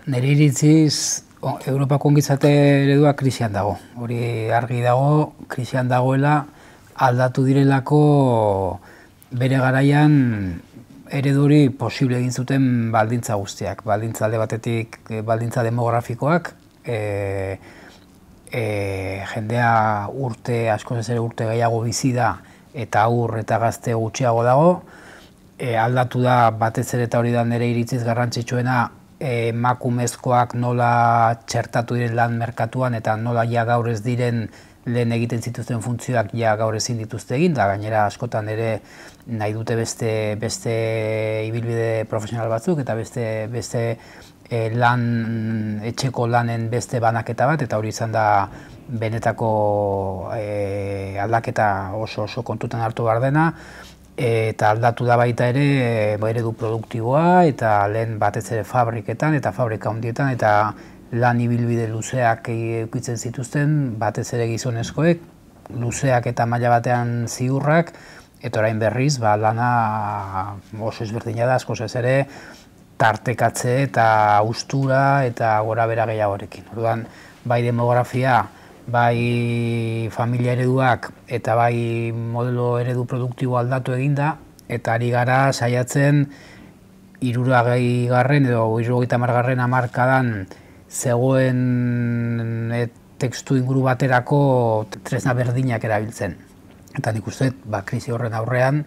Nire iritziz, Europako ongizate eredua krisian dago. Hori argi dago, krisian dagoela aldatu direlako bere garaian ereduri posible egin zuten baldintza guztiak. Baldintza alde batetik, baldintza demografikoak, jendea askoz ez ere urte gehiago bizi da eta haur eta gazte gutxiago dago. Aldatu da batez ere eta hori da nire iritziz garrantzitsuena, emakumezkoak nola txertatu diren lan merkatuan eta nola ja gaur ez diren lehen egiten zituzten funtzioak ja gaur ezin dituzte egin, da gainera askotan ere nahi dute beste ibilbide profesional batzuk eta beste etxeko lanen beste banaketa bat, eta hori izan da benetako aldaketa oso kontutan hartu behar dena. Eta aldatu da baita ere eredu produktiboa eta lehen batez ere fabriketan eta fabrika handietan eta lan ibilbide luzeak edukitzen zituzten, batez ere gizonezkoek, luzeak eta maila batean ziurrak, eta orain berriz lana oso ezberdina da, askoz ez ere tartekatze eta haustura eta gora bera gehiagorekin. Orduan, bai demografia, bai familia ereduak eta bai modelo eredu produktibo aldatu eginda, eta ari gara saiatzen 60. edo 70. hamarkadan zegoen testu inguru baterako tresna berdinak erabiltzen. Eta nik uste, krisi horren aurrean,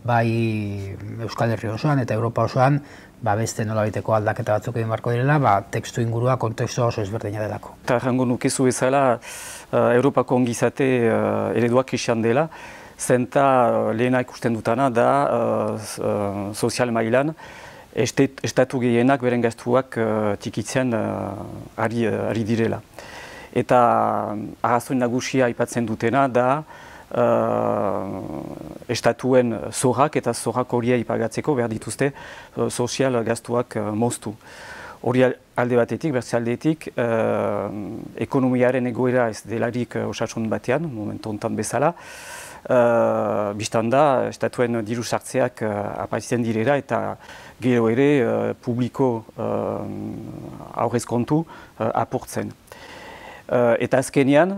bai Euskal Herri osoan eta Europa osoan, beste nolabaiteko aldaketa batzuk egin beharko direla, testu ingurua kontekstua oso ezberdina delako. Eta errango nukezu bezala, Europako ongizate ereduak krisian dela, zenta lehena ikusten dutana da sozial mailan, estatu gehienak beren gastuak txikitzen ari direla. Eta arrazoi nagusia aipatzen dutena da estatuen zorrak eta zorrak horia ipagatzeko behar dituzte sozial gastuak moztu. Hori alde batetik, bertze aldetik, ekonomiaren egoera ez delarik osasun batean, momentu honetan bezala. Bistan da, estatuen diru sartzeak aparitzen direla eta gero ere publiko aurrez kontu apurtzen. Eta azkenean,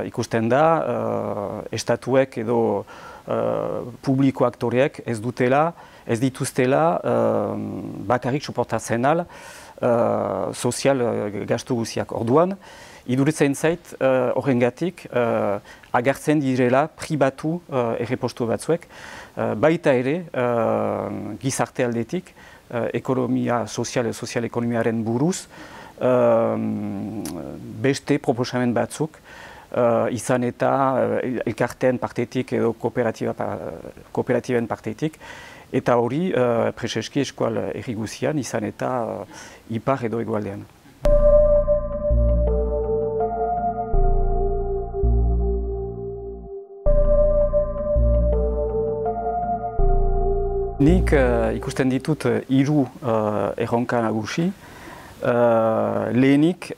ikusten da, estatuek edo publiko aktoreek ez dituztela bakarrik suportatzen al sozial gastu guziak. Orduan, iduritzen zait horrengatik agertzen direla pribatu errepostu batzuek, baita ere gizarte aldetik, ekonomia sozial ekonomiaren buruz, beste proposamen batzuk, izan eta elkarteen partetik edo kooperatiben partetik, eta hori preseski eskual herri guzian, izan eta ipar edo hegoaldean. Nik ikusten ditut 3 erronka nagusi. Lehenik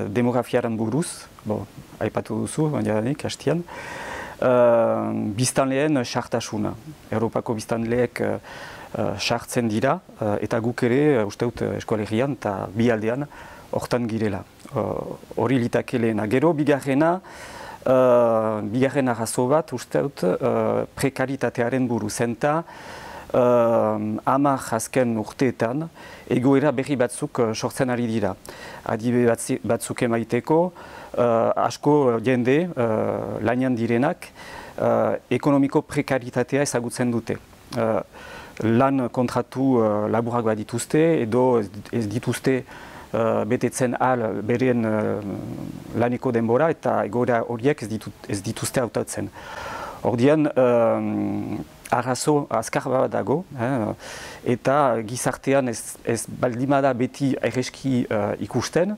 demografiaren buruz, aipatu duzu, bainanik, hastian. Biztanleen sartasuna. Europako biztanleek sartzen dira, eta guk ere, uste dut eskolegian eta bi aldean, hortan girela. Hori litake lehena. Gero, bigarrena arrazo bat, uste dut, prekaritatearen buruz. Zenta, 10 azken urteetan, egoera berri batzuk sortzen ari dira. Adibe batzuk emaiteko, asko jende lanian direnak ekonomiko prekaritatea ezagutzen dute. Lan kontratu laburak bat dituzte edo ez dituzte betetzen al beren laneko denbora eta egoera horiek ez dituzte hautatzen. Ordian, arrazo azkar bat dago, eta gizartean ez baldimada beti erreski ikusten,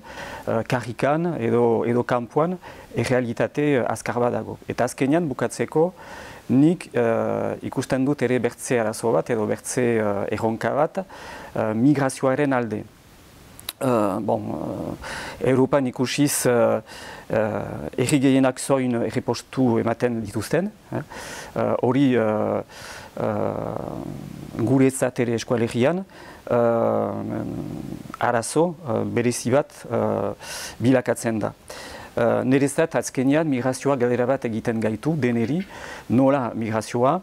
karrikan edo kanpoan errealitate azkar bat dago. Eta azkenean bukatzeko, nik ikusten dut ere bertze arazo bat edo bertze erronka bat migrazioaren alde. Europan ikusiz herri gehienak zoin errepostu ematen dituzten. Hori guretzat ere eskualegian arazo berezi bat bilakatzen da. Nerezat azkenean migrazioa galdera bat egiten gaitu deneri, nola migrazioa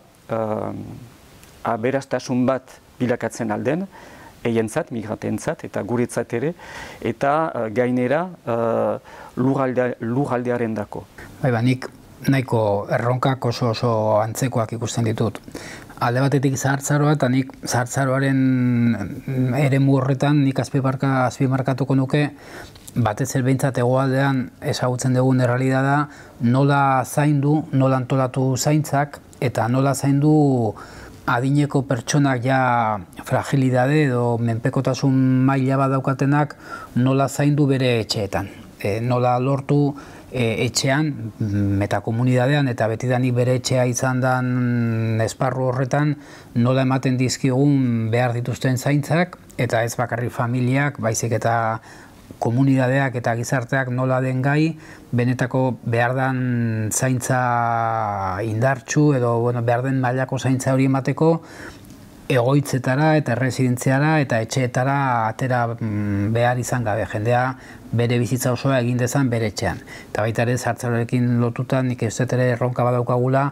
aberastasun bat bilakatzen alden, eientzat, migrantentzat eta guretzat ere, eta gainera lurraldearen dako. Nik nahiko erronkak oso antzekoak ikusten ditut. Alde batetik zahartzaroa, eta nik zahartzaroaren eremu horretan nik azpimarkatuko nuke, batez ere behintzat hegoaldean ezagutzen dugun errealitatea nola zaindu, nola antolatu zaintzak, eta nola zaindu adineko pertsonak ja fragilidade edo menpekotasun maila bat daukatenak nola zaindu bere etxeetan. Nola lortu etxean, metakomunidadean eta betidanik bere etxea izan den esparru horretan nola ematen dizkigun behar dituzten zaintzak, eta ez bakarrik familiak, baizik eta komunidadeak eta gizarteak nola den gai, benetako behar den zaintza indartsu edo behar den mailako zaintza hori emateko egoitzetara eta erresidentziara eta etxeetara atera behar izan gabe, jendea bere bizitza osoa egin dezan bere etxean. Eta baita ere zahartzaroarekin lotuta nik ez dut ere erronka badaukagula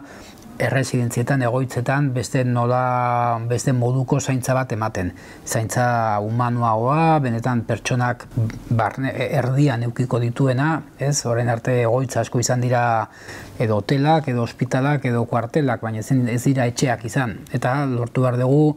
erresidentzietan, egoitzetan, beste moduko zaintza bat ematen. Zaintza humanoagoa, benetan pertsonak erdian eukiko dituena, orain arte egoitza asko izan dira edo hotelak, edo ospitalak, edo kuartelak, baina ez dira etxeak izan. Eta lortu behar dugu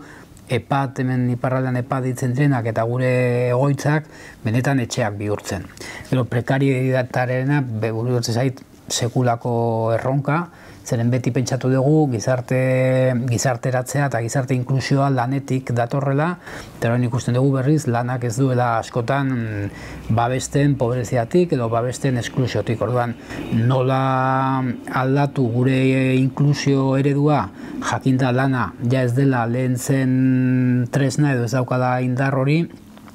EPAT, hemen iparraldean EPAT ditzen direnak eta gure egoitzak benetan etxeak bihurtzen. Gero prekarietarena, burutzen zait, sekulako erronka, zeren beti pentsatu dugu gizarteratzea eta gizarte inklusioa lanetik datorrela, eta orain ikusten dugu berriz lanak ez duela askotan babesten pobreziatik edo babesten esklusiotik. Orduan, nola aldatu gure inklusio eredua, jakinda lana ja ez dela lehen zen tresna edo ez daukala indar hori,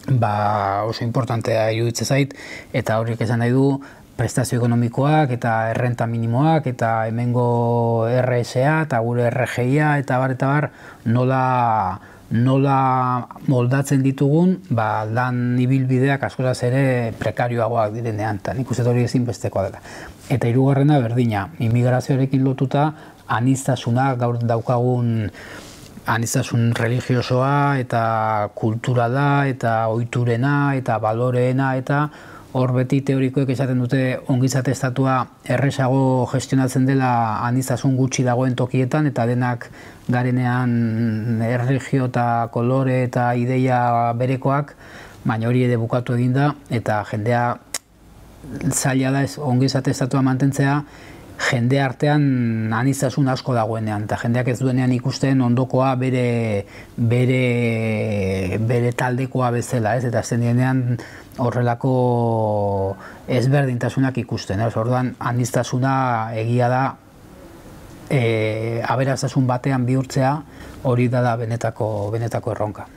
oso importantea iruditzen zait, eta horiek esan nahi du prestazio ekonomikoak eta errenta minimoak eta hemengo RSA eta gure RGIa eta bar nola moldatzen ditugun lan ibilbideak askoraz ere prekarioagoak direnean, eta nik uste hori ezinbestekoa dela. Eta hirugarrena berdina, immigrazioarekin lotuta aniztasuna, gaur daukagun aniztasun religiosoa eta kulturala eta ohiturena eta baloreena, eta hor beti teorikoek esaten dute ongizate estatua errezago gestionatzen dela aniztasun gutxi dagoen tokietan, eta denak garenean erregio eta kolore eta ideia berekoak, baina hori ere bukatu eginda, eta jendea zaila da ongizate estatua mantentzea jende artean aniztasun asko dagoenean, eta jendeak ez duenean ikusten ondokoa bere taldekoa bezala, eta azten dienean horrelako ezberdintasunak ikusten. Orduan, aniztasuna egia da aberastasun batean bihurtzea, hori da benetako erronka.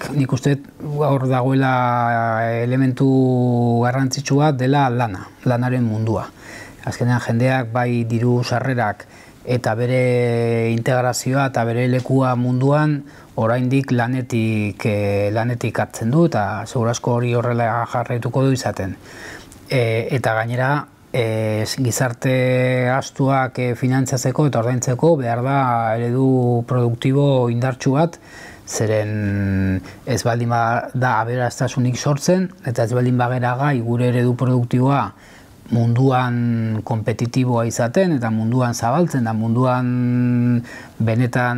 Nik uste hor dagoela elementu garrantzitsua dela lanaren mundua. Azkenean jendeak bai diru sarrerak eta bere integrazioa eta bere lekua munduan oraindik lanetik hartzen du, eta segurazko hori horrela jarraituko du izaten. Eta gainera gizarte gastuak finantzatzeko eta ordaintzeko behar da eredu produktibo indartsu bat, zeren ez baldin da aberastasunik sortzen, eta ez baldin bagera gai gure eredu produktiboa munduan kompetitiboa izaten, eta munduan zabaltzen, da munduan benetan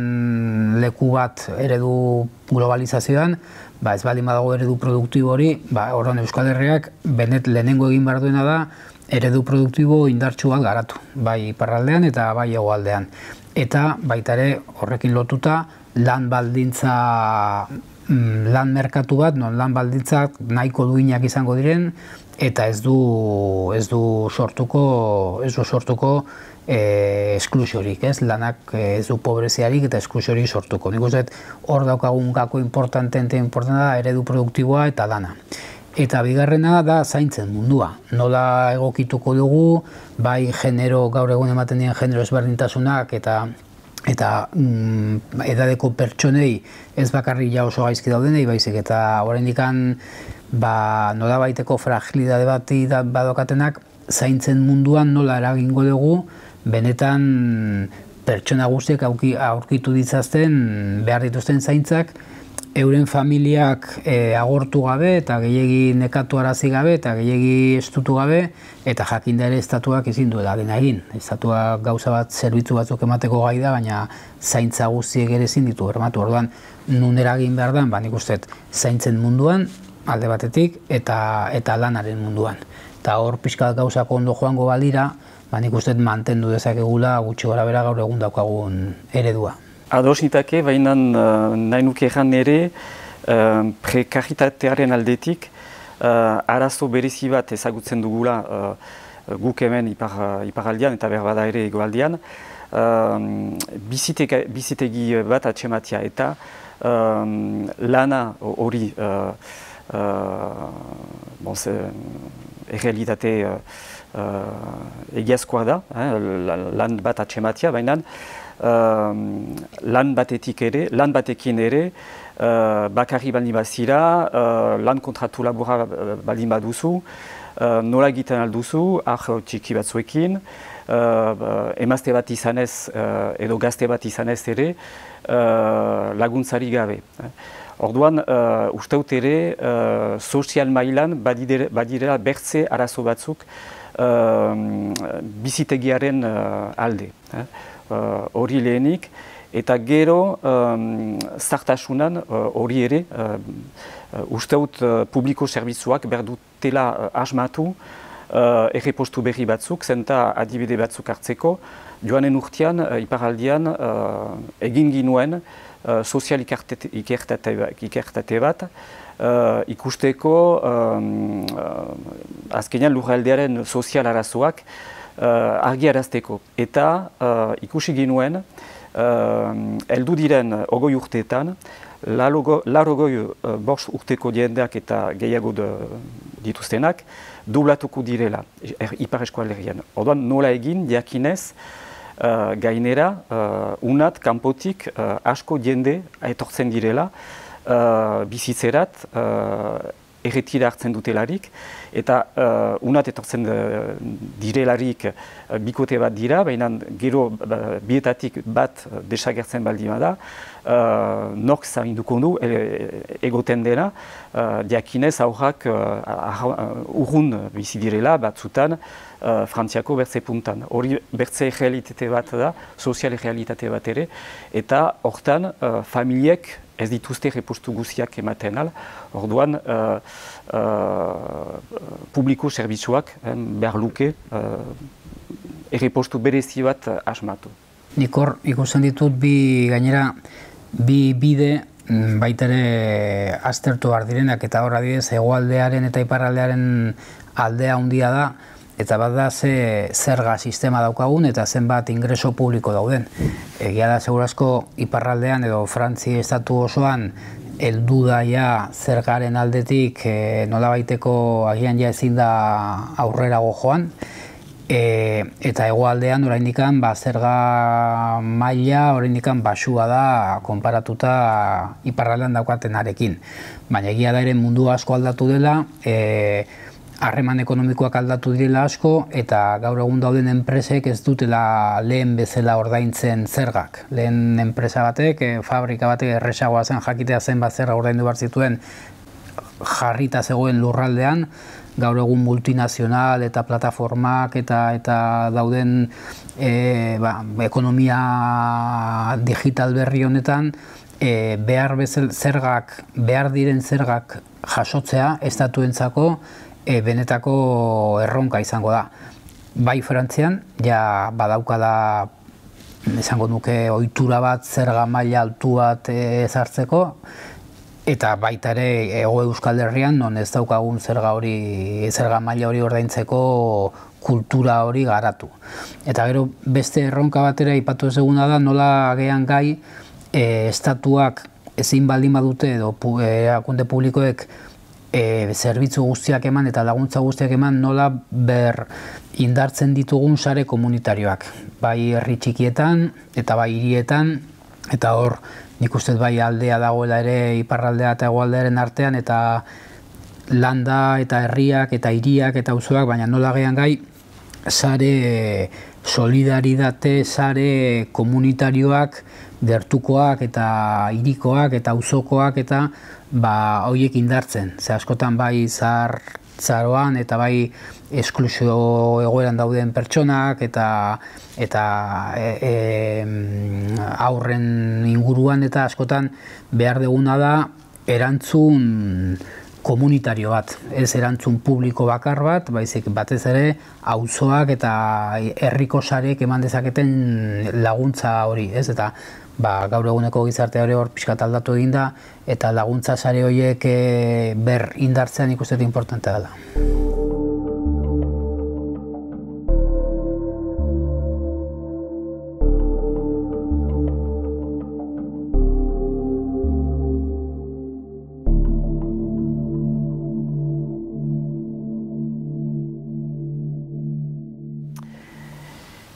leku bat eredu globalizazioan, ez baldin badago eredu produktibo hori, horren Euskal Herriak lehenengo egin behar duena da eredu produktibo indartsu bat garatu, bai iparraldean eta bai hegoaldean. Eta baita ere horrekin lotuta lan merkatu bat, non lan baldintzak nahiko duinak izango diren, eta ez du sortuko esklusiorik, lanak ez du pobreziarik eta esklusiorik sortuko. Nik uste hor daukagun gako importante da eredu produktiboa eta lana. Eta bigarrena da zaintzen mundua. Nola egokituko dugu, bai genero, gaur egun ematen diren genero ezberdintasunak eta edadeko pertsonei ez bakarrik ja oso gaizki daudenei baizik eta oraindikan nola baiteko fragilidade bat badokatenak zaintzen munduan nola eragingo dugu benetan pertsona guztiek aurkitu ditzazten behar dituzten zaintzak euren familiak agortu gabe eta gehiegi nekatu arazi gabe eta gehiegi estutu gabe eta jakinda ere estatuak ezin duela dena egin. Estatuak gauza bat zerbitzu batzuk emateko gai da, baina zaintza guztiek ere ezin ditu bermatu. Orduan, nun eragin behar da, nik uste zaintzen munduan alde batetik eta lanaren munduan. Eta hor pixka gauzak ondo joango balira, nik uste mantendu dezakegula gutxi gora bera gaur egun daukagun eredua. Ados nitake, baina nahi nuke egan ere prekaritatearen aldetik arazo berezi bat ezagutzen dugula guk hemen iparaldean eta berbada ere egoaldean bizitegi bat atxematia eta lana hori errealitate egiazkoa da, lan bat atxematia, baina lan batekin ere bakarri baldin bazira, lan kontratu labura baldin baduzu, nola egiten alduzu, txiki batzuekin, emazte bat izanez edo gazte bat izanez ere laguntzari gabe. Orduan, uste dut ere, sozial mailan badirela bertze arazo batzuk bizitegiaren alde. Hori lehenik, eta gero zartasunan hori ere, uste dut publiko zerbitzuak behar dutela asmatu errepostu berri batzuk, zenta adibide batzuk hartzeko, joanen urtean, iparaldean, egin ginuen sozial ikertate bat, ikusteko azkenean lurraldearen sozial arazoak argiarazteko. Eta ikusi ginuen, heldu diren 20 urteetan, 85 urteko jendeak eta gehiago dituztenak, dublatuko direla Ipar Eskualdean. Orduan nola egin, jakinez, gainera, unat, kanpotik, asko jende etortzen direla, bizitzerat, erretira hartzen dutelarik, eta unat etortzen direlarik bikote bat dira, baina gero bietatik bat desagertzen baldima da, nork zainduko du egoten dena, diakinez aurrak urrun bizi direla batzutan Frantziako bertze puntan. Hori bertze realitate bat da, sozial realitate bat ere, eta hortan familiek ez dituzte repostu guziak ematen al, orduan publiko zerbitzuak behar luke errepostu berezi bat asmatu. Nik hor ikusten ditut bi bide baita ere aztertu behar direnak eta hor adibidez hegoaldearen eta iparraldearen aldea handia da, eta bat da zerga sistema daukagun eta zenbat ingreso publiko dauden. Egia da segurazko iparraldean edo Frantzi estatu osoan heldu da ja zergaren aldetik nolabaiteko agian ja ezin da aurrerago joan. Eta hegoaldean oraindikan zerga maila oraindikan baxua da konparatuta iparraldean daukatenarekin. Baina egia da ere mundu asko aldatu dela, harreman ekonomikoak aldatu direla asko eta gaur egun dauden enpresek ez dutela lehen bezala ordaintzen zergak. Lehen enpresa batek, fabrika batek erresagoa zen jakitea zenbat zerga ordaindu behar zituen jarrita zegoen lurraldean, gaur egun multinazional eta plataformak eta dauden ekonomia digital berri honetan behar diren zergak jasotzea estatuentzako benetako erronka izango da. Bai Frantzian, ja badaukala esango nuke ohitura bat zerga maila altu bat ezartzeko, eta baita ere Hego Euskal Herrian non ez daukagun zerga maila hori ordaintzeko kultura hori garatu. Eta gero beste erronka batera aipatu ez eguna da nola agean gai estatuak ezin baldin badute edo erakunde publikoek zerbitzu guztiak eman eta laguntza guztiak eman nola ber indartzen ditugun sare komunitarioak. Bai herri txikietan eta bai hirietan, eta hor nik uste bai aldea dagoela ere iparraldea eta hegoaldearen artean, eta landa eta herriak eta hiriak eta auzoak, baina nola gean gai sare solidaridate, sare komunitarioak, gertukoak eta hirikoak eta auzokoak eta horiek indartzen. Ze askotan bai zaroan eta bai esklusio egoeran dauden pertsonak eta aurren inguruan, eta askotan behar duguna da erantzun komunitario bat, ez erantzun publiko bakar bat, baizik batez ere auzoak eta herriko sarek eman dezaketen laguntza hori, ez? Eta gaur eguneko gizartea hori hor pixkat aldatu egin da, eta laguntza sare horiek ber indartzean ikusten importantea dela.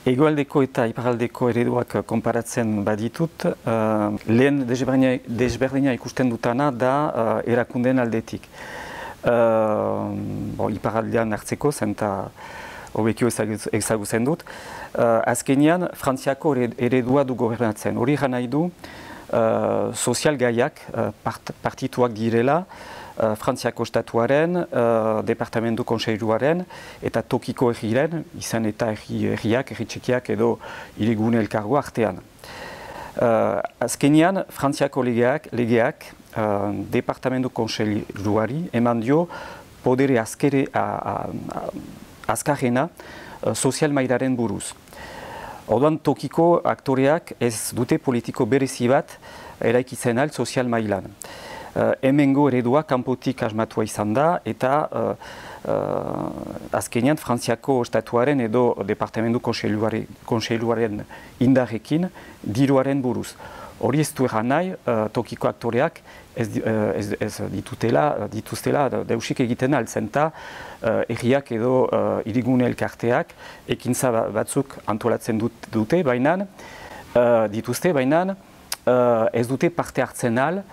Hegoaldeko eta iparraldeko ereduak konparatzen baditut, lehen desberdina ikusten dutana da erakundeen aldetik. Iparraldean hartzeko, zenta hobekio ezagutzen dut. Azkenean, Frantziako eredua du gobernatzen. Hori gana nahi du, sozial gaiak partituak direla, Frantziako estatuaren, departamentu kontseiluaren eta tokiko herriren, izan eta herriak, herri txikiak edo hirigune elkargo artean. Azkenean, Frantziako legeak departamentu kontseiluari eman dio podere azkarrena sozial mailaren buruz. Orduan, tokiko aktoreak ez dute politiko berezi bat eraikitzen al sozial mailan. Hemengo eredua kanpotik asmatua izan da, eta azkenean Frantziako estatuaren edo departamentu kontseiluaren indarrekin diruaren buruz. Hori ez du egan nahi, tokiko aktoreak ez dituztela deusik egiten altzen, eta herriak edo hirigune elkarteak ekintza batzuk antolatzen dute, baina ez dute parte hartzen al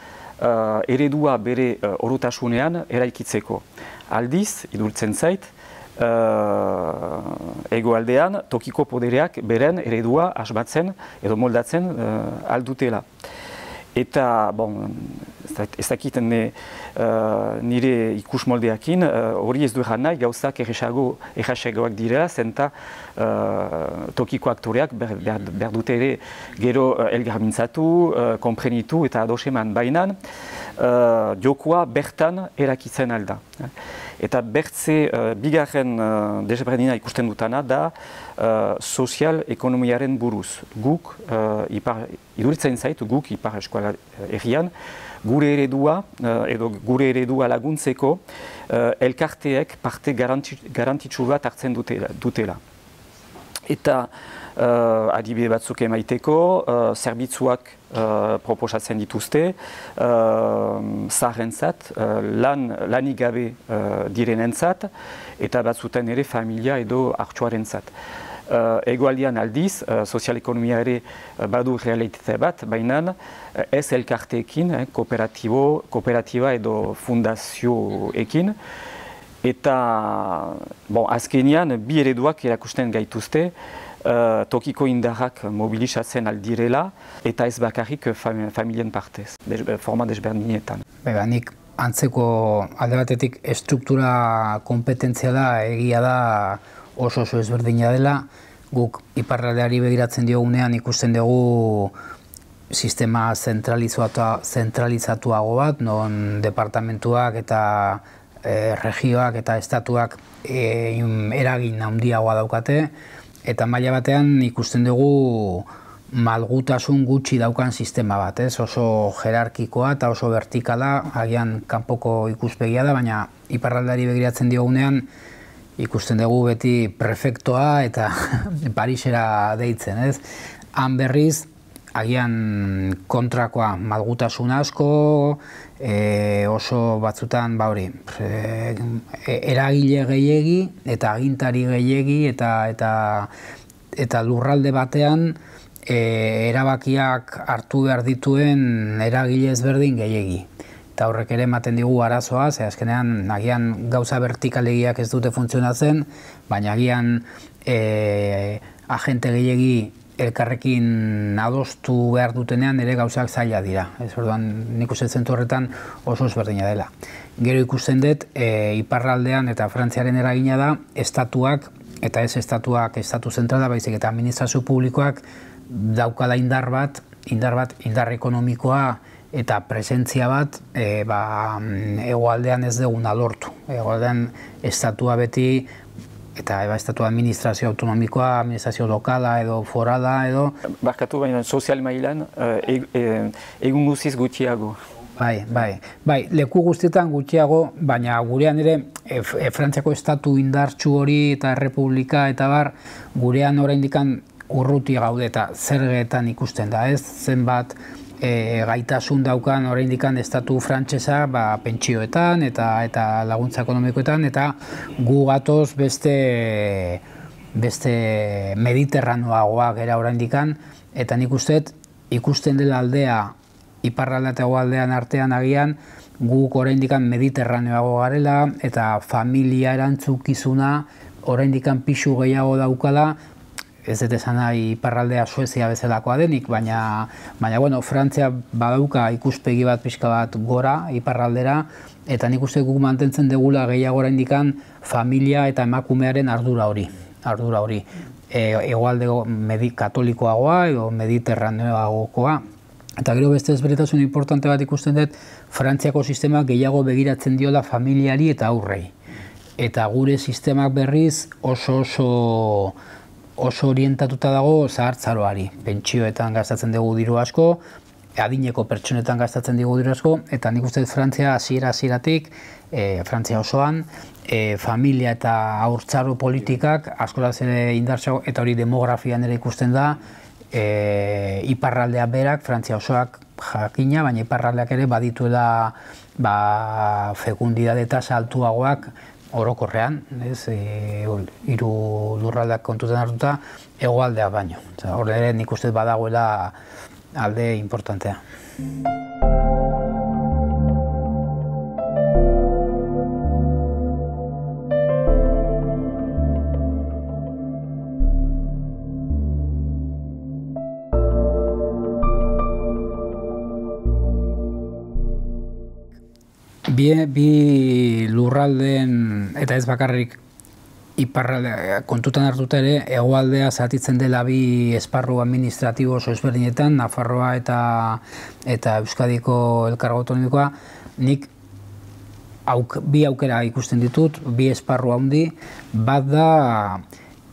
eredua bere orotasunean eraikitzeko. Aldiz, idurtzen zait, hegoaldean tokiko podereak beren eredua asmatzen edo moldatzen aldutela. Eta, ez dakiten nire ikus moldeakin, hori ez du egan nahi, gauzak errasagoak direla, zenta tokiko aktoreak behar dute ere gero elgarmintzatu, konprenitu eta adoseman bainan, jokoa bertan erakitzen alda. Eta bertze bigarren desberdina ikusten dutana da sozial ekonomiaren buruz. Guk, iduritzen zaitu guk ipar eskola herrian, gure eredua laguntzeko elkarteek parte garantitsu bat hartzen dutela. Eta adibide batzuk emaiteko, zerbitzuak proposatzen dituzte, zaharrentzat, lanik gabe direnentzat, eta batzuten ere familia edo hartsuarentzat. Hegoaldean aldiz, sozial-ekonomia ere badu realitate bat, baina ez elkarteekin, kooperatiba edo fundazioekin, eta azkenean bi ereduak erakusten gaituzte, tokiko indarrak mobilizatzen aldirela, eta ez bakarrik familien partez, forma desberdinetan. Nik antzeko alde batetik estruktura kompetentziala egia da oso ezberdina dela. Guk iparraldeari begiratzen diogunean ikusten dugu sistema zentralizatuago bat, non departamentuak eta regioak eta estatuak eragin handiagoa daukate, eta maila batean ikusten dugu malgutasun gutxi daukan sistema bat, oso jerarkikoa eta oso vertikala, agian kanpoko ikuspegia da, baina iparraldeari begiratzen diogunean ikusten dugu beti prefektoa eta Parisera deitzen, Han berriz agian kontrakoa, malgutasun asko, oso batzutan, eragile gehiegi eta agintari gehiegi eta lurralde batean erabakiak hartu behar dituen eragile ezberdin gehiegi. Eta horrek ere ematen digu arazoa, ze azkenean agian gauza vertikalegiak ez dute funtzionatzen, baina agian agente gehiegi elkarrekin adostu behar dutenean ere gauzak zaila dira. Ez orduan nik uste zentzu horretan oso ezberdina dela. Gero ikusten dut, iparraldean eta Frantziaren eragina da, estatuak, eta ez estatuak, estatu zentrala, baizik eta administrazio publikoak daukala indar ekonomikoa eta presentzia bat hegoaldean ez duguna lortu. Hegoaldean estatua beti, eta estatua administrazio autonomikoa, administrazio lokala edo forala edo... Barkatu baina sozial mailan egun guziz gutxiago. Bai, leku guztietan gutxiago, baina gurean ere Frantziako estatu indartsu hori eta errepublika eta gurean oraindik urruti gaude eta zergetan ikusten da, ez? Zenbat gaitasun daukan oraindik estatu frantsesa pentsioetan eta laguntza ekonomikoetan, eta gu gatoz beste mediterranoagoa gera oraindik, eta nik ikusten dela aldea iparraldea eta hegoaldean artean agian guk oraindik mediterraneoago garela eta familia erantzukizuna oraindik pisu gehiago daukala. Ez dut esan nahi iparraldea Suezia bezalakoa denik, baina Frantzia badauka ikuspegi bat pixka bat gora iparraldera, eta nik uste guk mantentzen degula gehiago oraindik familia eta emakumearen ardura hori. Hegoalde katolikoagoa edo mediterraneoagokoa. Eta gero beste ezberdintasun importante bat ikusten dut, Frantziako sistema gehiago begiratzen diola familiari eta aurrei. Eta gure sistemak berriz oso orientatuta dago zahartzaroari. Pentsioetan gastatzen dugu diru asko, adineko pertsonetan gastatzen dugu diru asko, eta nik uste Frantzia hasieratik, Frantzia osoan, familia eta haurtzaro politikak askoraz ere indartsago, eta hori demografian ere ikusten da, iparraldea berak, Frantzia osoak jakina, baina iparraldeak ere badituela fekundidade tasa altuagoak orokorrean, hiru lurraldeak kontutan hartuta, hegoaldea baino. Hor ere nik uste badagoela alde importantea. Bi lurraldeen, eta ez bakarrik iparraldea kontutan hartuta ere, hegoaldea zatitzen dela bi esparru administratibo oso ezberdinetan, Nafarroa eta Euskadiko elkargo autonomikoa. Nik bi aukera ikusten ditut, bi esparru handi, bat da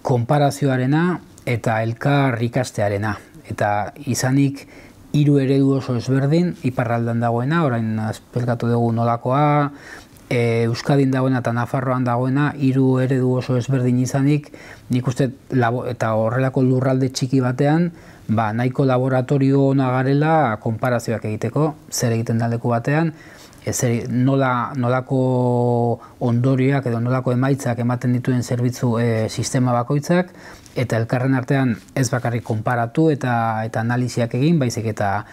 konparazioarena eta elkar ikastearena. Eta izanik hiru eredu oso ezberdin, iparraldean dagoena, orain azpelkatu dugu nolakoa, Euskadin dagoena eta Nafarroan dagoena, hiru eredu oso ezberdin izanik, nik uste, eta horrelako lurralde txiki batean, nahiko laboratorio ona garela konparazioak egiteko, zer egiten da leku batean, nolako ondorioak edo nolako emaitzak ematen dituen zerbitzu sistema bakoitzak, eta elkarren artean ez bakarrik konparatu eta analiziak egin, baizik eta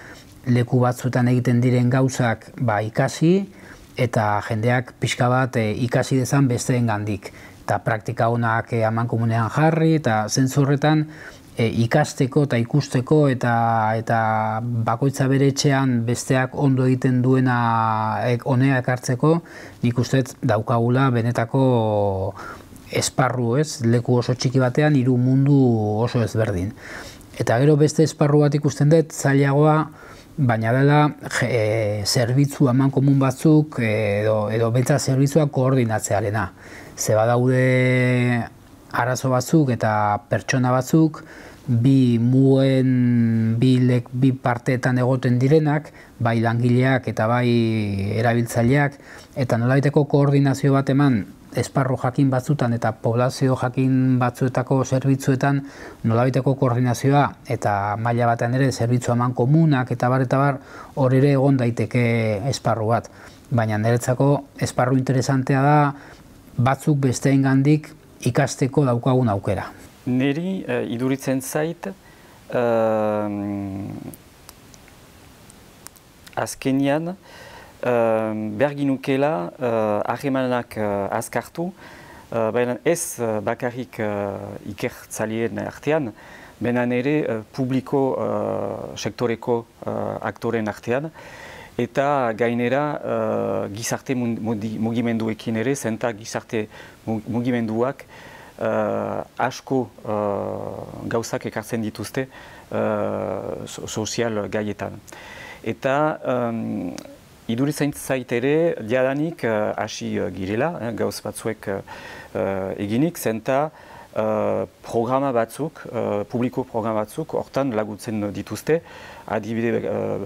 leku batzuetan egiten diren gauzak ikasi, eta jendeak pixka bat ikasi dezan besteengandik. Eta praktika onak amankomunean jarri, eta zentzu horretan ikasteko eta ikusteko eta bakoitza bere etxean besteak ondo egiten duena honea ekartzeko, nik uste daukagula benetako esparru, leku oso txiki batean hiru mundu oso ezberdin. Eta gero beste esparru bat ikusten dut zailagoa, baina dela zerbitzu amankomun batzuk edo bentsa zerbitzua koordinatzearena. Ze badaude arazo batzuk eta pertsona batzuk bi parteetan egoten direnak, bai langileak eta bai erabiltzaileak, eta nolabaiteko koordinazio bat eman esparru jakin batzutan eta poblazio jakin batzuetako zerbitzuetan nolabaiteko koordinazioa eta maila batean ere zerbitzu eman komunak eta bar hor ere egon daiteke esparru bat. Baina niretzako esparru interesantea da batzuk besteengandik ikasteko daukagun aukera. Neri iduritzen zait azkenian behar ginukela harremanak azkartu, baina ez bakarrik ikertzaileen artean, baina ere publiko sektoreko aktoren artean, eta gainera gizarte mugimenduekin ere, zenta gizarte mugimenduak asko gauzak ekartzen dituzte sozial gaietan. Eta iduritzen zait ere, jadanik hasi girela, gauz batzuek eginik, zenta programa batzuk, publiko programa batzuk, hortan laguntzen dituzte, adibide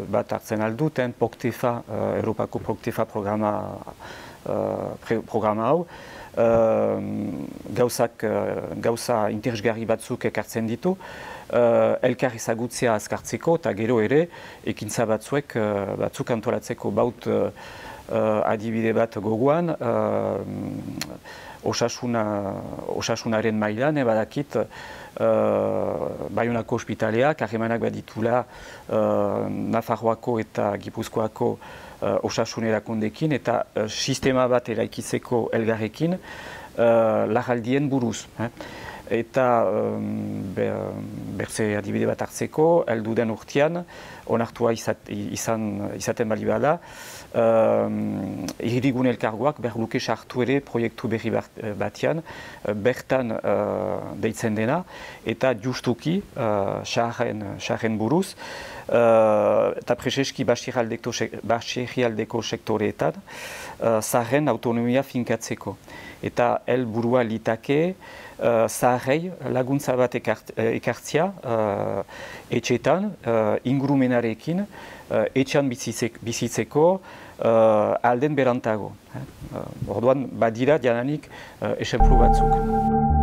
bat hartzen alduten, POCTEFA, Europako POCTEFA programa hau, gauza interesgarri batzuk ekartzen ditu, elkar ezagutzea azkartzeko eta gero ere ekintza batzuk antolatzeko baut adibide bat gogoan, osasunaren mailan, badakit Baionako ospitaleak harremanak baditula Nafarroako eta Gipuzkoako osasun erakundeekin eta sistema bat eraikitzeko elgarrekin larraldien buruz. Eta berze adibide bat hartzeko, heldu den urtean, onartua izaten bali bada, hirigune elkargoak behar luke sartu ere proiektu berri batean, bertan deitzen dena, eta justuki, saharren buruz, eta preseski Basirrialdeko sektoreetan, zaharren autonomia finkatzeko. Eta helburua litake, zaharrei laguntza bat ekartzia etxetan, ingurumenarekin, etxean bizitzeko alden berantago. Orduan, badira jadanik esemplu batzuk.